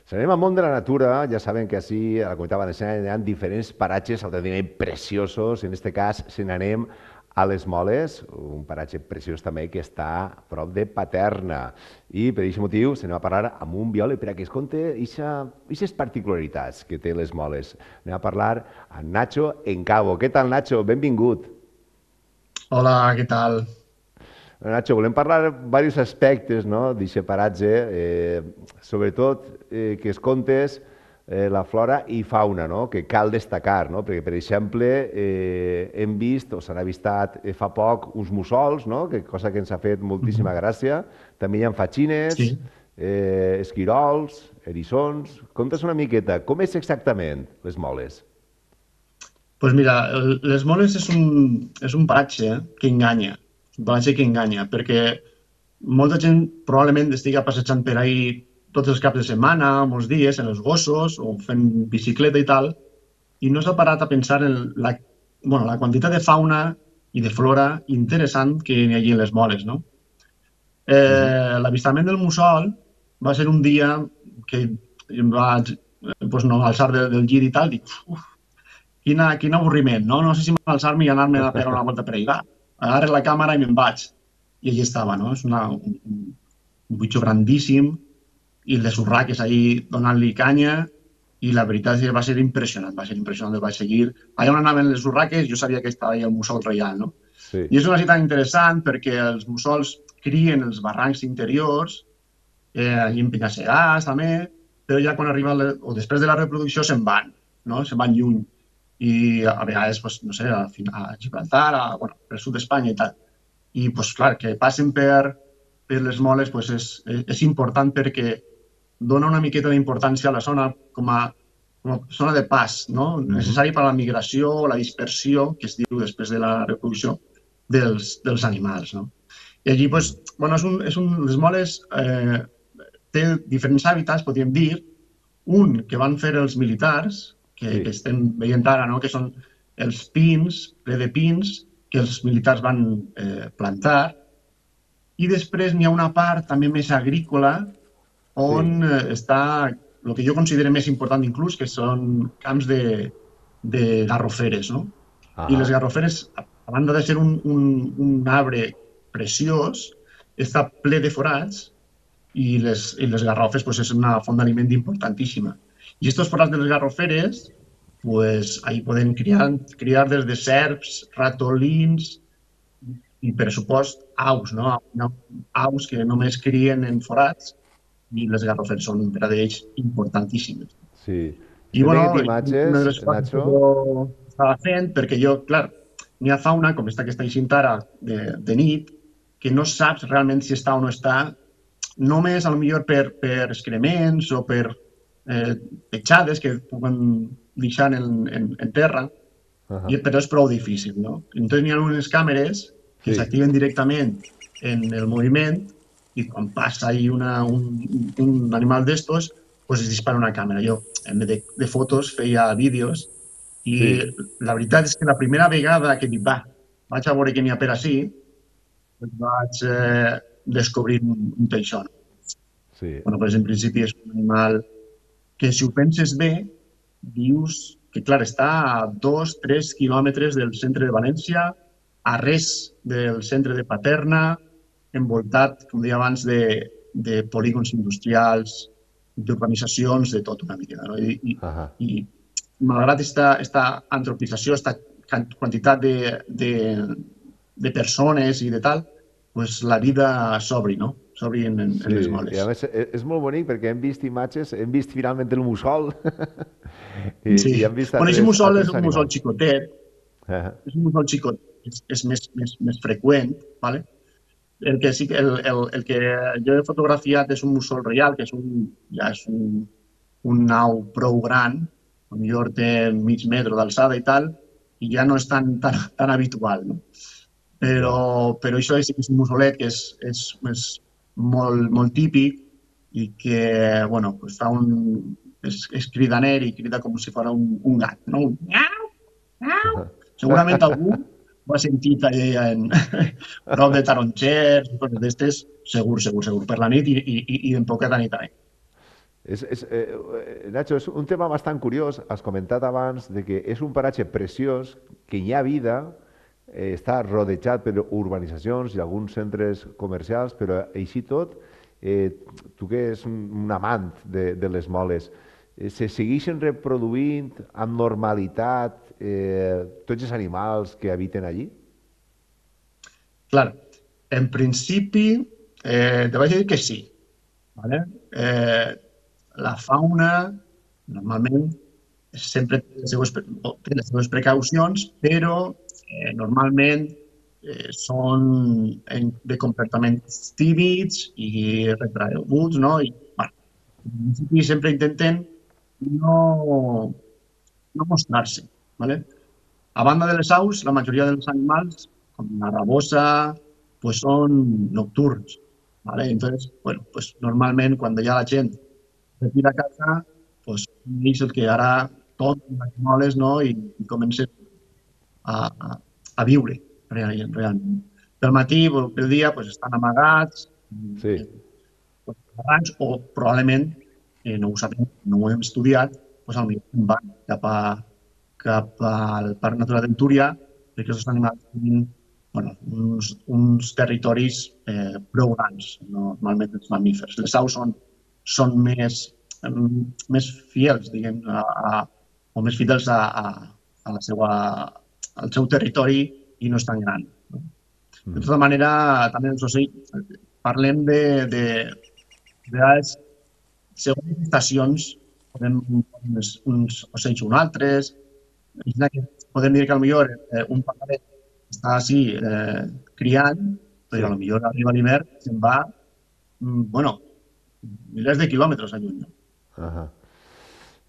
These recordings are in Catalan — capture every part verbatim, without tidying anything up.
Si anem al món de la natura, ja saben que així a la Comunitat Valenciana hi ha diferents paratges autènticament preciosos. En aquest cas, se n'anem a les Moles, un paratge preciós també que està a prop de Paterna. I per aquest motiu se n'anem a parlar amb un biòleg per a que es conte aquestes particularitats que té les Moles. Anem a parlar amb Nacho Encabo. Què tal, Nacho? Benvingut. Hola, què tal? Nacho, volem parlar de diversos aspectes no, d'aquest paratge, eh, sobretot eh, que es contes eh, la flora i fauna, no, que cal destacar, no, perquè, per exemple, eh, hem vist, o s'han avistat eh, fa poc, uns mussols, no, que, cosa que ens ha fet moltíssima Mhm. gràcia. També hi ha fatxines, Sí, eh, esquirols, eriçons. Contes una miqueta, com és exactament les moles? pues mira, el- les moles és un, és un paratge eh, que enganya, un paratge que enganya, perquè molta gent probablement estiga passejant per ahí tots els caps de setmana, molts dies, en els gossos, o fent bicicleta i tal, i no s'ha parat a pensar en la, bueno, la quantitat de fauna i de flora interessant que hi ha allí en les moles, no? Mhm. Eh, L'avistament del mussol va ser un dia que em vaig eh, pues no, alçar de, del llit i tal, dic, Quina, quin avorriment, no? No sé si m'alçar-me i anar-me a pegar una volta per ahí. Va, agarres la càmera i me'n vaig. I allí estava, no? És una, un, un bitxo grandíssim i el de Surraques ahí donant-li canya i la veritat és que va ser impressionant, va ser impressionant, el vaig seguir. Allà on anaven les urraques jo sabia que estava allà el mussol reial, no? Sí. I és una ciutat interessant perquè els mussols crien els barrancs interiors, eh, i en penya-segats també, però ja quan arriba, la, o després de la reproducció se'n van, no? Se'n van lluny i a vegades, pues, no sé, a, a Gibraltar, a, bueno, per sud d'Espanya i tal. I, pues, clar, que passen per, per les moles pues, és, és important perquè dona una miqueta d'importància a la zona com a, com a zona de pas, no? Mhm. Necessari per a la migració o la dispersió, que es diu després de la reproducció, dels, dels animals, no? I allí, pues, Mhm. bueno, és un, és un, les moles eh, té diferents hàbitats, podríem dir, un que van fer els militars, que, que Sí. estem veient ara, no? Que són els pins, ple de pins, que els militars van eh, plantar, i després n'hi ha una part també més agrícola on Sí. eh, està el que jo considero més important inclús, que són camps de, de garroferes, no? I les Ahà. garroferes, a a banda de ser un, un, un arbre preciós, està ple de forats i les, i les garrofes pues, és una font d'aliment importantíssima. I aquests forats de les garroferes, pues, ahí poden criar, criar des de serps, ratolins i, per supost, aus, no? Aus que només crien en forats i les garroferes són per a ells importantíssimes. Sí. I, Estem veient bueno, una de imatges, les coses que Nacho. jo estava fent, perquè jo, clar, n'hi ha fauna, com esta que està així ara, de, de nit, que no saps realment si està o no està, només a lo millor per, per excrements o per eh, petjades que puguen deixar en, en, en terra, Ahà. i, però és prou difícil, no? Entonces n'hi ha unes càmeres que Sí. s'activen directament en el moviment i quan passa ahí una, un, un animal d'estos, pues es dispara una càmera. Jo, en vez de, de fotos, feia vídeos i Sí. la veritat és que la primera vegada que dic, va, vaig a veure què n'hi ha per ací, pues vaig eh, descobrir un, un teixón. Sí. Bueno, pues en principi és un animal que si ho penses bé, dius que, clar, està a dos, tres quilòmetres del centre de València, a res del centre de Paterna, envoltat, com deia abans, de, de polígons industrials, d'urbanitzacions, de tot una mica. No? I, i, Ahà. i malgrat esta, esta antropització, esta quantitat de, de, de persones i de tal, pues la vida s'obri, no? S'obri en, en, Sí, en les i a moles. més e- és molt bonic perquè hem vist imatges, hem vist finalment el mussol i, Sí. i hem vist Bueno, aquest altres, mussol és altres un mussol animals. xicotet, Ahà. és un mussol xicot, és, és més, més, més freqüent, ¿vale? El que sí que el, el, el que jo he fotografiat és un mussol reial, que és un, ja és un, un nau prou gran, millor té mig metre d'alçada i tal, i ja no és tan, tan, tan habitual, no? Però, Clar. però això sí que és un mussolet que és, és, és molt, molt típic i que, bueno, pues fa un, és, és cridaner i crida com si fos un, un gat, no? Un miau, miau. Segurament algú ho ha sentit allà en, prop de tarongers i coses d'estes, segur, segur, segur, per la nit i, i, i en poca nit també. És, és, eh, Nacho, és un tema bastant curiós. Has comentat abans de que és un paratge preciós, que hi ha vida, eh, està rodejat per urbanitzacions i alguns centres comercials, però així tot, eh, tu que és un, un amant de, de les moles, eh, se segueixen reproduint amb normalitat eh, tots els animals que habiten allí? Clar, en principi, eh, te vaig dir que sí. ¿Vale? Eh, la fauna, normalment, sempre té les seues, té les seues precaucions, però eh, normalment eh, són en, de comportaments tímids i retraeguts, no? I, bueno, en principi sempre intenten no, no mostrar-se, ¿vale? A banda de les aus, la majoria dels animals, com la rabosa, pues són nocturns, ¿vale? Entonces, bueno, pues normalment quan ja la gent retira a casa, pues és el que ara tot les moles, no? I, i comencen a, a, a viure realment, realment. Pel matí, pel dia, pues estan amagats, Sí. eh, barrancs, o probablement, eh, no ho sabem, no ho hem estudiat, pues potser van cap, a, cap al Parc Natural del Túria, perquè els animals tenen bueno, uns, uns territoris eh, prou grans, no? Normalment els mamífers. Les aus són, són més, em, més fiels, diguem, a, a, o més fidels a, a, a la seva, al seu territori i no és tan gran. No? De tota manera, també els ocells, parlem de, de, de vegades, segons les estacions, podem uns, uns ocells un altres, podem dir que potser eh, un pajaret està així eh, criant, però Sí. potser arriba l'hivern i se'n va, mm, bueno, milers de quilòmetres a lluny. Ajá.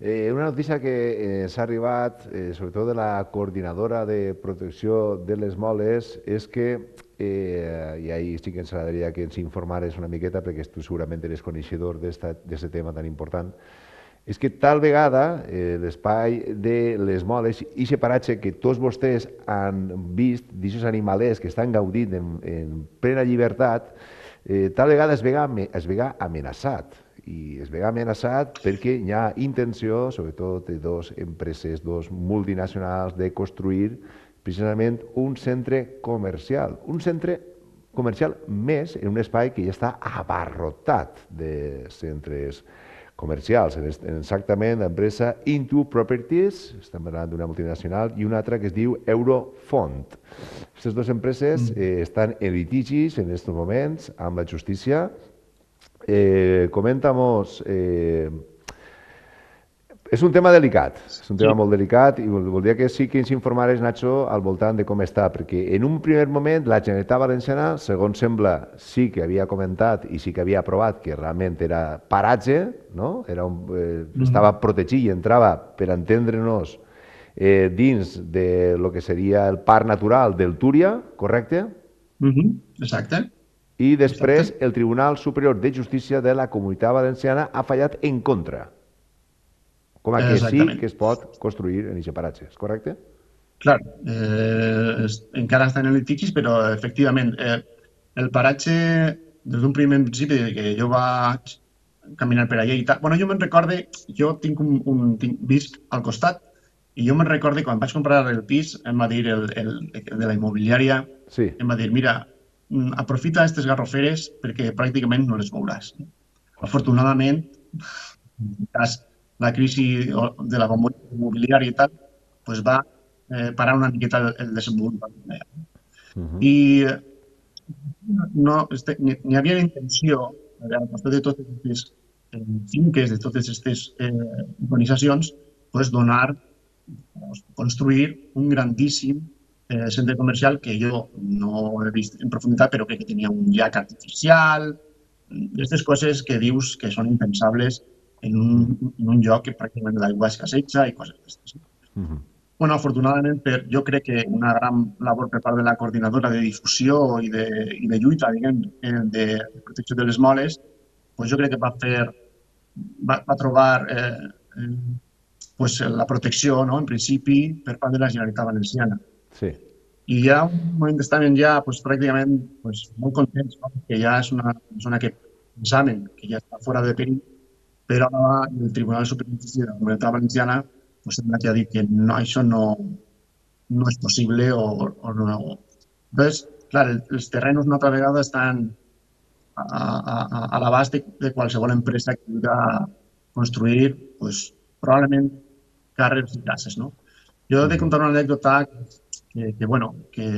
Eh, una notícia que eh, s'ha arribat, eh, sobretot de la coordinadora de protecció de les moles, és que, eh, i ahí sí que ens agradaria que ens informares una miqueta, perquè tu segurament eres coneixedor d'aquest tema tan important, és que tal vegada eh, l'espai de les moles i aquest paratge que tots vostès han vist d'aquests animalers que estan gaudint en, en plena llibertat, eh, tal vegada es vega, es vega amenaçat. I es vega amenaçat perquè hi ha intenció, sobretot de dues empreses, dos multinacionals, de construir precisament un centre comercial. Un centre comercial més en un espai que ja està abarrotat de centres comercials. Exactament, l'empresa Into Properties, estem parlant d'una multinacional, i una altra que es diu Eurofond. Aquestes dues empreses eh, estan en litigis en aquests moments amb la justícia. Eh, coméntanos, eh, és un tema delicat, és un tema sí. molt delicat i voldria que sí que ens informares, Nacho, al voltant de com està, perquè en un primer moment la Generalitat Valenciana, segons sembla, sí que havia comentat i sí que havia aprovat que realment era paratge, no? Era un, eh, estava protegit i entrava, per entendre-nos, eh, dins de lo que seria el Parc Natural del Túria, correcte? Mm-hmm. Exacte. I després el Tribunal Superior de Justícia de la Comunitat Valenciana ha fallat en contra. Com a que sí que es pot construir en aquest paratge, és correcte? Clar, eh, encara estan en litigis, però efectivament eh, el paratge, des d'un primer principi que jo vaig caminar per allà i tal, bueno, jo me'n recorde, jo tinc un, un tinc, visc al costat i jo me'n recorde quan vaig comprar el pis, em va dir el, el, el de la immobiliària, sí. em va dir, mira, aprofita aquestes garroferes perquè pràcticament no les veuràs. Afortunadament, en cas la crisi de la bombolla immobiliària i tal, pues va eh, parar una miqueta el, el desenvolupament. Uh -huh. I no, este, n'hi havia la intenció, al costat de totes aquestes eh, finques, de totes aquestes eh, organitzacions, pues donar, pues, construir un grandíssim eh, centre comercial que jo no he vist en profunditat, però crec que tenia un llac artificial, aquestes coses que dius que són impensables en un, en un lloc que pràcticament l'aigua escasseja i coses d'aquestes. Uh -huh. Bueno, afortunadament, per, jo crec que una gran labor per part de la coordinadora de difusió i de, i de lluita, diguem, de, de protecció de les moles, pues jo crec que va fer, va, va trobar eh, eh, pues la protecció, no?, en principi, per part de la Generalitat Valenciana. Sí. I ja un moment estaven ja pues, pràcticament pues, molt contents, no?, que ja és una persona que pensaven que ja està fora de perill, però el Tribunal Superior de Justícia de la Comunitat Valenciana pues, sembla que ha dit que no, això no, no és possible o, o no. Entonces, clar, el, els terrenos una altra vegada estan a, a, a, a l'abast de, de qualsevol empresa que vulgui construir, pues, probablement carrers i cases, no? Jo he de contar una anècdota que, que bueno, que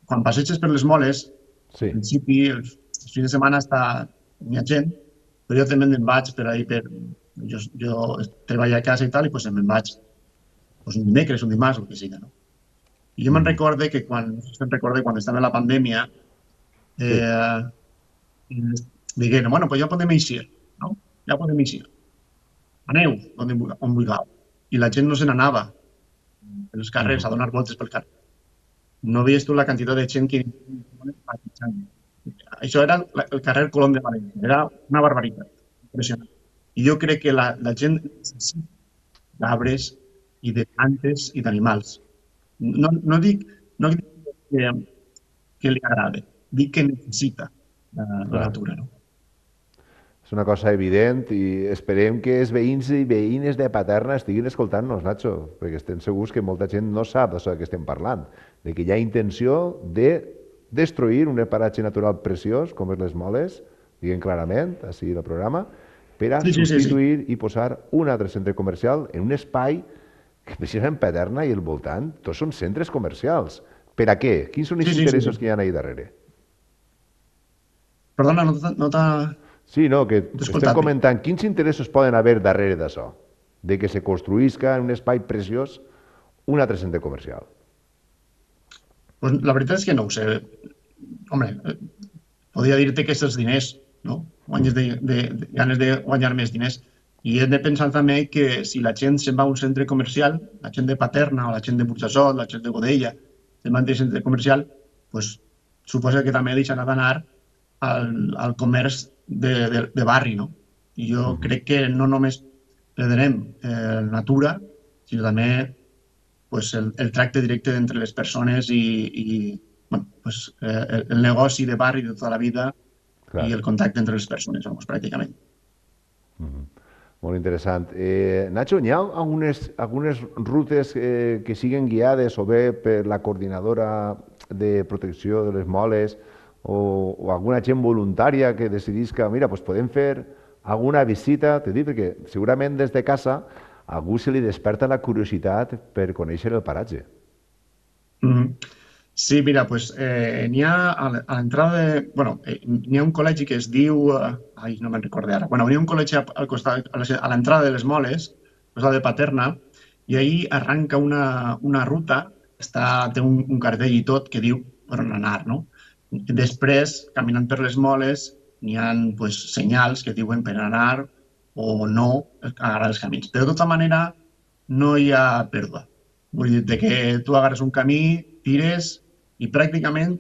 quan passeges per les moles, Sí. al principi, els, els fins de setmana està, hi ha gent, però jo també me'n vaig per ahir, per, jo, jo treballo a casa i tal, i pues, me'n vaig pues, un dimecres, un dimarts, el que sigui, no? I jo me'n recorde que quan, se'n recorde quan estava la pandèmia, eh, sí. digueren, bueno, pues ja podem eixir, no? Ja podem eixir. Aneu on, on vulgueu. I la gent no se n'anava pels carrers, uh -huh. a donar voltes pel carrer. No veies tu la quantitat de gent que... Això era el carrer Colom de València. Era una barbaritat. Impressionant. I jo crec que la, la gent necessita d'arbres i de plantes i d'animals. No, no dic, no dic que, que li agrada, dic que necessita la, la natura, no? És una cosa evident i esperem que els veïns i veïnes de Paterna estiguin escoltant-nos, Nacho, perquè estem segurs que molta gent no sap d'això que estem parlant, de que hi ha intenció de destruir un paratge natural preciós, com és les Moles, diguem clarament, així el programa, per a Sí, sí, sí, substituir sí. i posar un altre centre comercial en un espai que precisament Paterna i el voltant tots són centres comercials. Per a què? Quins són els Sí, sí, interessos sí. que hi ha ahí darrere? Perdona, no t'ha... No t'ha- Sí, no, que t'he estem escoltat bé. comentant quins interessos poden haver darrere d'això, de que se construïsca en un espai preciós un altre centre comercial. Pues la veritat és que no ho sé. Home, eh, podria dir-te que aquests diners, no? Guanyes de, de, de, ganes de guanyar més diners. I hem de pensar també que si la gent se'n va a un centre comercial, la gent de Paterna o la gent de Burjassot, la gent de Godella, se'n va a un centre comercial, pues, suposa que també deixarà d'anar al, al comerç de, de, de barri, no? I jo uh -huh. crec que no només perdrem eh, natura, sinó també pues, el, el tracte directe entre les persones i, i bueno, pues, eh, el, el negoci de barri de tota la vida Clar. i el contacte entre les persones, vamos, pràcticament. Uh -huh. Molt interessant. Eh, Nacho, hi ha algunes, algunes rutes eh, que siguen guiades o bé per la coordinadora de protecció de les moles o, o alguna gent voluntària que decidís que, mira, pues podem fer alguna visita, te dic, perquè segurament des de casa a algú se li desperta la curiositat per conèixer el paratge. Mm -hmm. Sí, mira, pues eh, n'hi ha a l'entrada de... Bueno, eh, n'hi ha un col·legi que es diu... Eh, ai, no me'n recordo ara. Bueno, n'hi ha un col·legi al costat, a l'entrada de les Moles, al costat de Paterna, i ahir arranca una, una ruta, està, té un, un cartell i tot, que diu per on anar, no? Després, caminant per les Moles, n'hi ha pues, senyals que diuen per anar o no agarrar els camins. Però de tota manera no hi ha pèrdua. Vull dir que tu agarres un camí, tires i pràcticament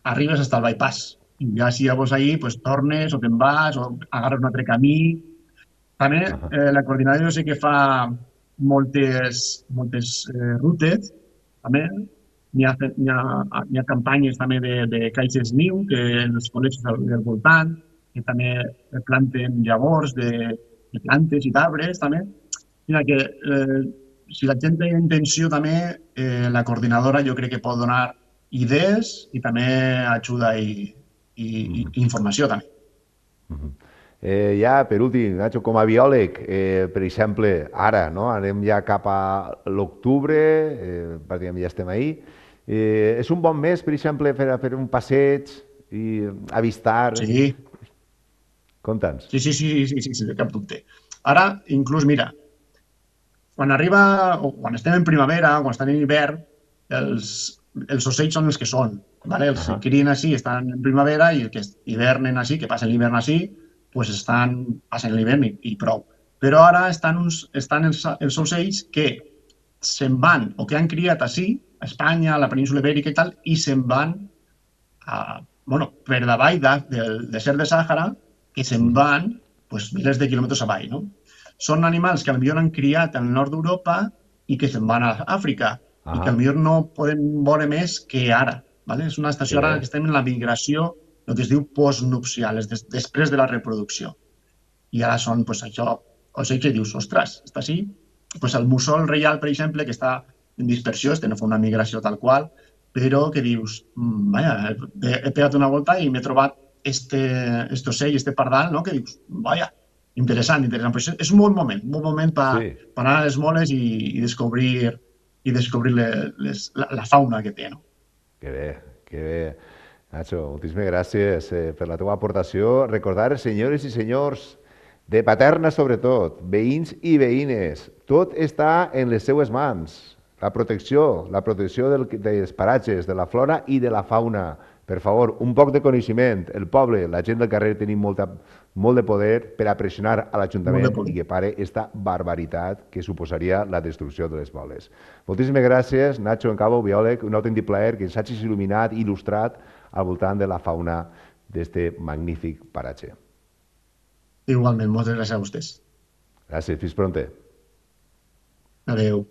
arribes fins al bypass. I ja si llavors ahir pues, tornes o te'n vas o agarres un altre camí. També eh, la coordinadora sé que fa moltes, moltes eh, rutes, també. N'hi ha, hi ha, hi ha campanyes també de, de caixes niu, que en els col·legis del, del voltant, que també planten llavors de, de plantes i d'arbres, també. Mira que eh, si la gent té intenció també, eh, la coordinadora jo crec que pot donar idees i també ajuda i, i, i informació també. Uh -huh. eh, ja, per últim, Nacho, com a biòleg, eh, per exemple, ara, no? Anem ja cap a l'octubre, eh, pràcticament ja estem ahí. Eh, és un bon mes, per exemple, per a fer un passeig i avistar... Sí. Conta'ns. Sí, sí, sí, sí, sí, sí, de cap dubte. Ara, inclús, mira, quan arriba, o quan estem en primavera, o quan estan en hivern, els, els ocells són els que són, ¿vale? Els que crien així estan en primavera i els que hivernen així, que passen l'hivern així, pues estan, passen l'hivern i, i prou. Però ara estan, uns, estan els, els ocells que se'n van, o que han criat així, a Espanya, a la península Ibèrica i tal, i se'n van a, bueno, per davall de, del desert de Sàhara, que se'n van pues, milers de quilòmetres avall, no? Són animals que potser han criat al nord d'Europa i que se'n van a Àfrica ah. i que potser no podem veure més que ara. ¿Vale? És una estació sí. ara que estem en la migració, el que es diu postnupcial, és des, després de la reproducció. i ara són, pues, això, o sigui que dius, ostres, està així. Pues el mussol reial, per exemple, que està en dispersió, este no fa una migració tal qual, però que dius, mm, vaja, he, he pegat una volta i m'he trobat este, este ocell, este pardal, no? Que dius, vaja, interessant, interessant. Pues és un bon moment, un bon moment per Sí, pa anar a les moles i, i descobrir, i descobrir les, les, la, la fauna que té, no? que bé, que bé. Nacho, moltíssimes gràcies eh, per la teva aportació. Recordar, senyores i senyors, de Paterna sobretot, veïns i veïnes, tot està en les seues mans. La protecció, la protecció del, dels paratges, de la flora i de la fauna. Per favor, un poc de coneixement. El poble, la gent del carrer, tenim molta, molt de poder per a pressionar a Molt de l'Ajuntament poder. i que pare esta barbaritat que suposaria la destrucció de les moles. Moltíssimes gràcies, Nacho Encabo, biòleg, un autèntic plaer que ens hagis il·luminat i il·lustrat al voltant de la fauna d'este magnífic paratge. Igualment, moltes gràcies a vostès. Gràcies, fins pronte. Adéu.